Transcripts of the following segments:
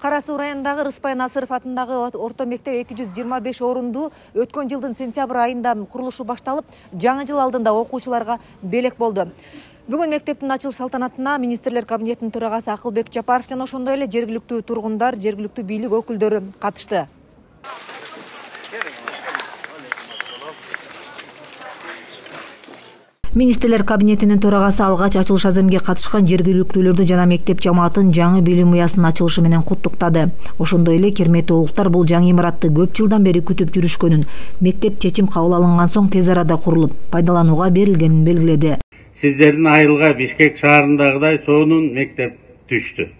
Кара Суу районундагы Рыспай Насыров атындагы орто мектеп 225 орунду өткөн жылдын сентябрь айында курулушу башталып, жаңы жыл алдында окуучуларга белек болду. Бүгүн мектептин ачылыш салтанатына министрлер кабинетинин төрагасы Акылбек Жапаров жана ошондой эле жергиликтүү тургундар, жергиликтүү бийлик өкүлдөрү катышты. Министрлер кабинетинин төрагасы алгач ачылыш аземге катышкан жергиликтүүлөрдү жана мектеп жамаатын жаңы билим уясынын ачылышы менен куттуктады. Ошондой эле керметтүү улуктар бул жаңы имаратты көп жылдан бери күтүп жүрүшкөнүн, мектеп чечим кабыл алынган соң тез арада курулуп, пайдаланууга берилгенин белгиледи. Сиздердин айылга Бишкек шаарындагыдай сонун мектеп түштү.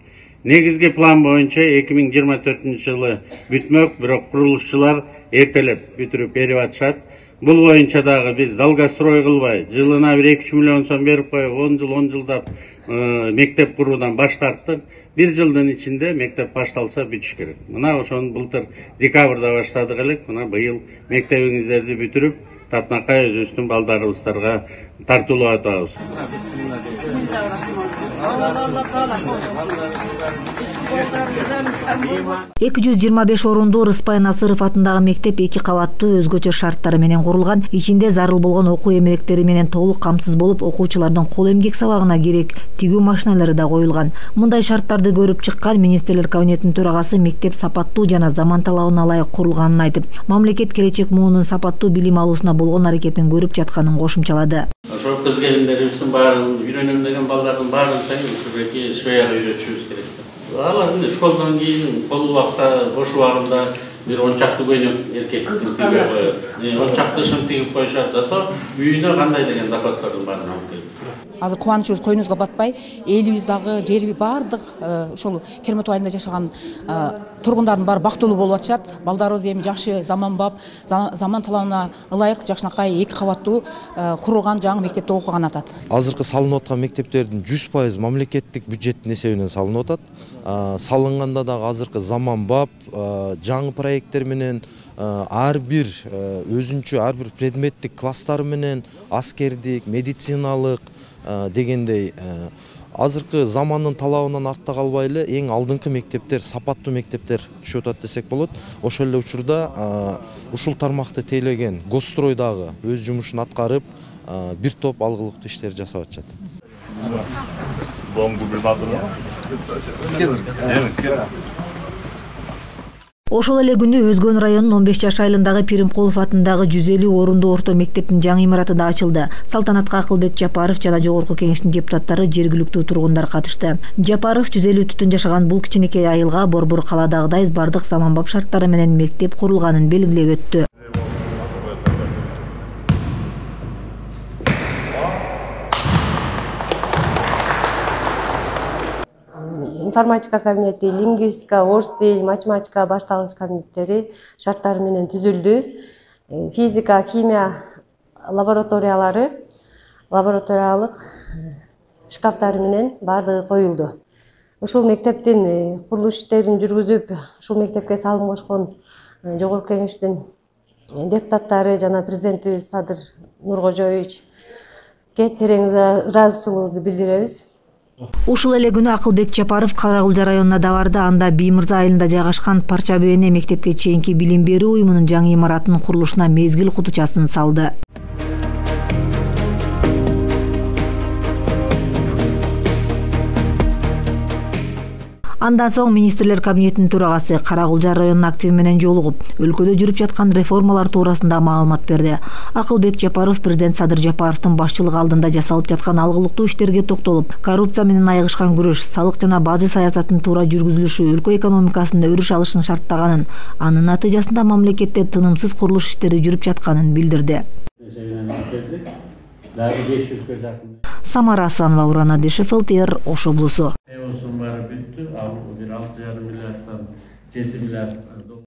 Негизги план боюнча 2024-жылы бүтмөк, бирок курулушчулар эртелеп бүтүрүп берип атышат. Бул боюнча дагы биз долгострой кылбай, жылына 1-2 миллион сом берип коюп, 10 жылдап мектеп куруудан баш тарттык. 1 жылдын ичинде мектеп башталса бүтүш керек. Мына ошону былтыр декабрда баштадык элек. Мына быйыл мектебиңиздерди бүтүрүп, татынакай өзүбүздүн балдарыбыздарга тартуулап атабыз. 225 орунду Рыспай Насыров атындагы мектеп 2 кабаттуу өзгөчө шарттары менен курулган, ичинде зарыл болгон окуу эмелектери менен толук камсыз болуп, окуучулардын кол эмгек сабагына керек тигүү машиналары да коюлган. Мындай шарттарды көрүп чыккан министрлер кабинетинин төрагасы мектеп сапаттуу жана заман талабына ылайык курулганын айтып, мамлекет келечек муунун сапаттуу билим алуусуна болгон аракетин көрүп жатканын кошумчалады. Ошо кыз келиндерибиздин баарын, үйрөнөм деген балдардын баарын ушул швеяга үйрөтүшүбүз керек. Алар школдон кийин кол убакта, бош убагында бир 10 чакты көйнөк эркектин тигип коёт. 10 чактышын тигип коюшат, зато үйүнө кандай деген доходдордун баарын алып келет. Азыр кубанычыбыз койнубузга батпай, элибиз дагы жери бардык ушул Керметтүү айылында жашаган тургундардын баары бактылуу болуп атышат. Балдарыбыз эми жакшы заманбап, заман талабына ылайык жакшынакай 2 кабаттуу курулган жаңы мектепте окуган атат. Азыркы салынып аткан мектептердин 100% мамлекеттик бюджеттин эсебинен салынып атат. Салынганда дагы азыркы заманбап, жаңы проекттер менен ар бир өзүнчө ар бир предметтик класстары менен аскердик, медициналык дегендей азыркы замандын талабынан артта калбай эле эң алдыңкы мектептер, сапаттуу мектептер түшүп атат десек болот. Ошол эле учурда ушул тармакты тейлеген Госстрой дагы өз жумушун аткарып, бир топ алгылыктуу иштер жасап атышат. Ошол эле күнү Өзгөн районунун 15 жаш айылындагы Пиримкулов атындагы 150 орунду орто мектептин жаңы имараты да ачылды. Салтанатка Акылбек Жапаров жана жогорку кеңештин депутаттары, жергиликтүү тургундар катышты. Жапаров 150 түтүн жашаган бул кичинекей айылга борбор каладагыдай бардык заманбап шарттары менен мектеп курулганын белгилеп өттү. Информатика кабинети, лингвистика, орус тил, математика башталгыч кабинеттери шарттары менен түзүлдү. Физика, химия лабораториялары, лабораториялык шкафтары менен баардыгы коюлду. Ушул мектептин курулуш иштерин жүргүзүп, ушул мектепке салым кошкон жогорку кеңештин депутаттары жана президентибиз Садыр Нуркожоевичке терең ыраазычылыгыбызды билдиребиз. Ушул эле күнү Акылбек Жапаров Карагулжа районуна да барды. Анда Биймырза айылында жайгашкан Парча Бөөне мектепке чейинки билим берүү уюмунун жаңы имаратынын курулушуна мезгил кутучасын салды. Андан соң министрлер кабинетинин төрагасы Карагулжа районунун активи менен жолугуп, өлкөдө жүрүп жаткан реформалар туурасында маалымат берди. Акылбек Жапаров президент Садыр Жапаровдун башчылыгы алдында жасалып жаткан алгылыктуу иштерге токтолуп, коррупция менен айыгышкан күрөш, салык жана бажы саясатынын туура жүргүзүлүшү өлкө экономикасынын өрүш алышын шарттаганын, анын натыйжасында мамлекетте тынымсыз курулуш иштери жүрүп жатканын билдирди. Самара Асанова, Уран Адишев, ЛТР, Ош облусу. Бир 6,5 миллиарддан 7 миллиард